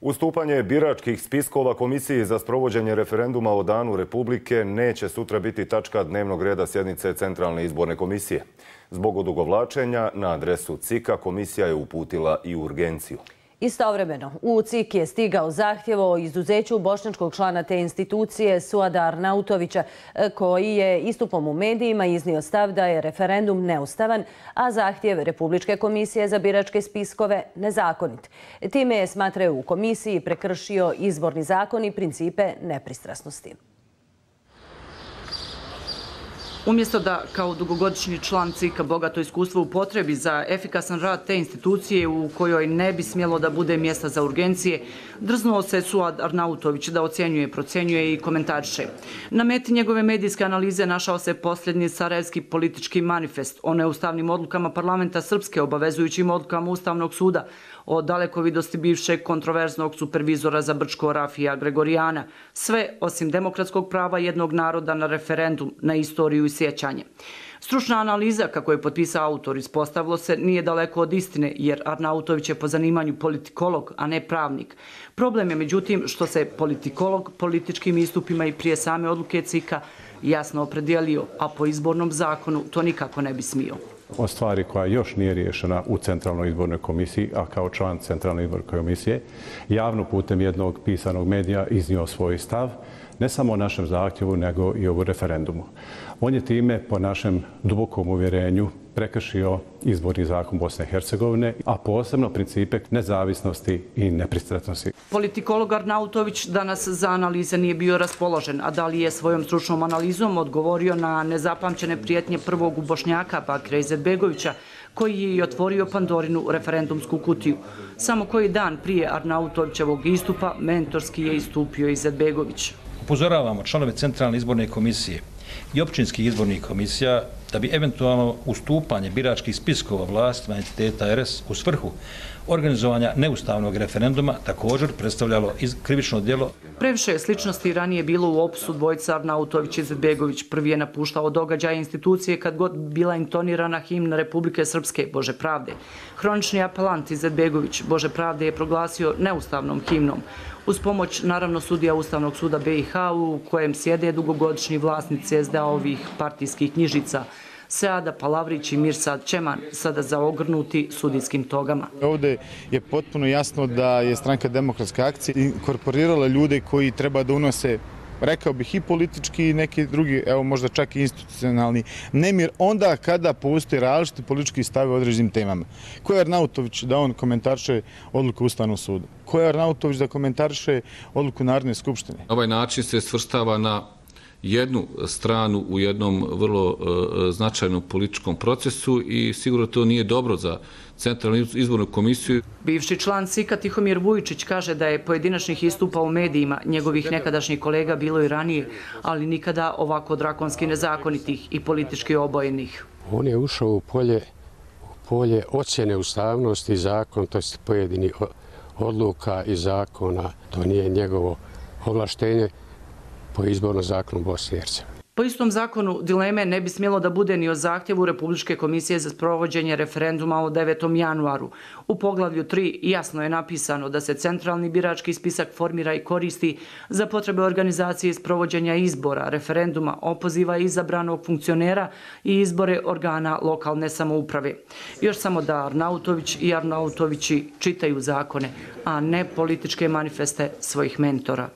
Ustupanje biračkih spiskova Komisiji za sprovođenje referenduma o Danu Republike neće sutra biti tačka dnevnog reda sjednice Centralne izborne komisije. Zbog odugovlačenja na adresu CIK-a komisija je uputila i urgenciju. Istovremeno, u CIK je stigao zahtjev o izuzeću bošnjačkog člana te institucije Suada Arnautovića, koji je istupom u medijima iznio stav da je referendum neustavan, a zahtjev Republičke komisije za biračke spiskove nezakonit. Time je, smatraju u komisiji, prekršio izborni zakon i principe nepristrasnosti. Umjesto da kao dugogodišnji član CIK-a bogato iskustvo upotrebi za efikasan rad te institucije u kojoj ne bi smjelo da bude mjesta za urgencije, drznuo se Suad Arnautović da ocjenjuje, procjenjuje i komentariše. Na meti njegove medijske analize našao se posljednji sarajevski politički manifest o neustavnim odlukama parlamenta Srpske, obavezujućim odlukama Ustavnog suda, o dalekovidosti bivšeg kontroverznog supervizora za Brčko Rafija Gregorijana, sve osim demokratskog prava jednog naroda na referendum, na istoriju i sjećanje. Stručna analiza, kako je potpisao autor, ispostavilo se, nije daleko od istine, jer Arnautović je po zanimanju politikolog, a ne pravnik. Problem je, međutim, što se politikolog političkim istupima i prije same odluke CIK-a jasno opredijelio, a po izbornom zakonu to nikako ne bi smio. O stvari koja još nije riješena u Centralnoj izbornoj komisiji, a kao član Centralne izborne komisije, javno putem jednog pisanog medija iznio svoj stav, ne samo o našem zahtjevu, nego i o referendumu. On je time, po našem dubokom uvjerenju, prekršio izborni zakon Bosne i Hercegovine, a posebno principe nezavisnosti i nepristrasnosti. Politikolog Arnautović danas za analize nije bio raspoložen, a da li je svojom stručnom analizom odgovorio na nezapamćene prijetnje prvog Bošnjaka Bakira Izetbegovića, koji je i otvorio Pandorinu referendumsku kutiju. Samo koji dan prije Arnautovićevog istupa mentorski je istupio Izetbegović. Upozoravamo članove Centralne izborne komisije i općinskih izbornih komisija da bi eventualno ustupanje biračkih spiskova vlastima entiteta RS u svrhu organizovanja neustavnog referenduma također predstavljalo krivično djelo. Previše sličnosti ranije bilo u opisu dvojica Arnautović i Izetbegović. Prvi je napuštao događaje institucije kad god bila intonirana himna Republike Srpske Bože pravde. Hronični apelant Izetbegović Bože pravde je proglasio neustavnom himnom. Uz pomoć, naravno, sudija Ustavnog suda BiH u kojem sjede dugogodišnji vlasnici SDA-ovih partijskih knjižica, Seada Palavrić i Mirsad Čeman, sada zaogrnuti sudijskim togama. Ovdje je potpuno jasno da je Stranka demokratske akcije inkorporirala ljude koji treba da unose, rekao bih, i politički i neki drugi, evo možda čak i institucionalni nemir, onda kada postoje različiti politički stave o određenim temama. Ko je Arnautović da on komentariše odluku Ustavnog suda? Ko je Arnautović da komentariše odluku Narodne skupštine? Na ovaj način se svrstava na jednu stranu u jednom vrlo značajnom političkom procesu i sigurno to nije dobro za Centralnu izbornu komisiju. Bivši član CIK-a Tihomir Vujičić kaže da je pojedinačnih istupa u medijima njegovih nekadašnjih kolega bilo i ranije, ali nikada ovako drakonski nezakonitih i politički obojenih. On je ušao u polje ocjene ustavnosti zakon, to je pojedini odluka i zakona, to nije njegovo ovlaštenje po izbornom zakonu Bosne i Hercegovine. Po istom zakonu dileme ne bi smjelo da bude ni o zahtjevu Republičke komisije za sprovođenje referenduma o 9. januaru. U poglavlju 3 jasno je napisano da se centralni birački spisak formira i koristi za potrebe organizacije i sprovođenja izbora, referenduma, opoziva izabranog funkcionera i izbore organa lokalne samouprave. Još samo da Arnautović i Arnautovići čitaju zakone, a ne političke manifeste svojih mentora.